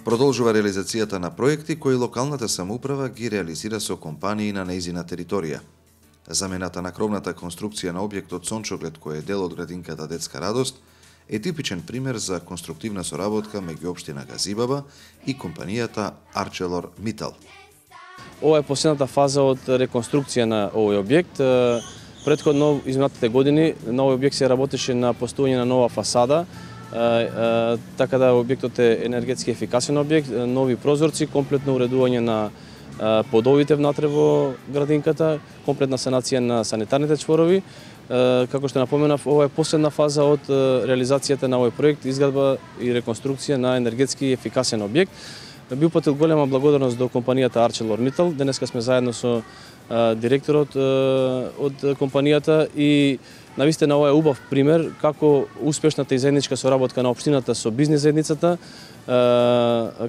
Продолжува реализацијата на проекти кои локалната самоуправа ги реализира со компании на нејзина територија. Замената на кровната конструкција на објектот Сончоглед, кој е дел од градинката Детска радост, е типичен пример за конструктивна соработка меѓу општина Газибаба и компанијата ArcelorMittal. Ова е последната фаза од реконструкција на овој објект. Претходно, изминатите години, на овој објект се работеше на постојање на нова фасада, така да објектот е енергетски ефикасен објект, нови прозорци, комплетно уредување на подовите внатре во градинката, комплетна санација на санитарните чворови. Како што напоменав, ова е последна фаза од реализацијата на овој проект, изградба и реконструкција на енергетски ефикасен објект. Би упатил голема благодарност до компанијата ArcelorMittal. Денеска сме заедно со директорот од компанијата и навистина ова е убав пример како успешната и заедничка соработка на општината со бизнис заедницата,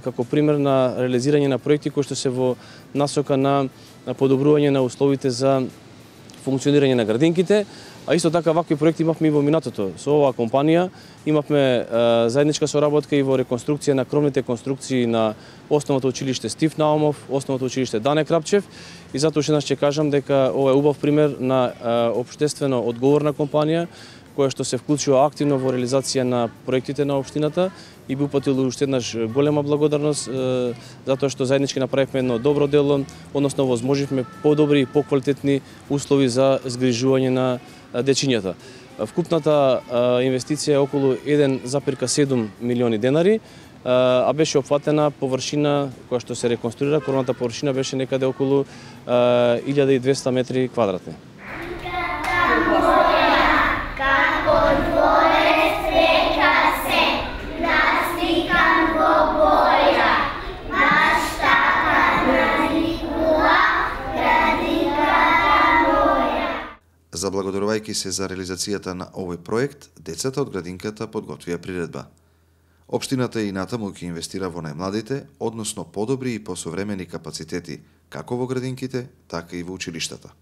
како пример на реализирање на проекти кои што се во насока на подобрување на условите за функционирање на градинките, а исто така вакви проекти имавме и во минатото. Со оваа компанија имавме заедничка соработка и во реконструкција на кровните конструкции на Основното училиште Стив Наумов, Основното училиште Дане Крапчев, и затоа уште еднаш ќе кажам дека ова е убав пример на општествено одговорна компанија која што се вклучува активно во реализација на проектите на општината и би упатил уште еднаш голема благодарност затоа што заеднички направивме едно добро дело, односно возможивме подобри и поквалитетни услови за згрижување на дечињата. Вкупната инвестиција е околу 1,7 милиони денари, а беше опфатена површина која што се реконструира, кровната површина беше некаде околу 1200 метри квадратни. Заблагодарувајќи се за реализацијата на овој проект, децата од градинката подготвија приредба. Општината и натаму ќе инвестира во најмладите, односно подобри и посовремени капацитети, како во градинките, така и во училиштата.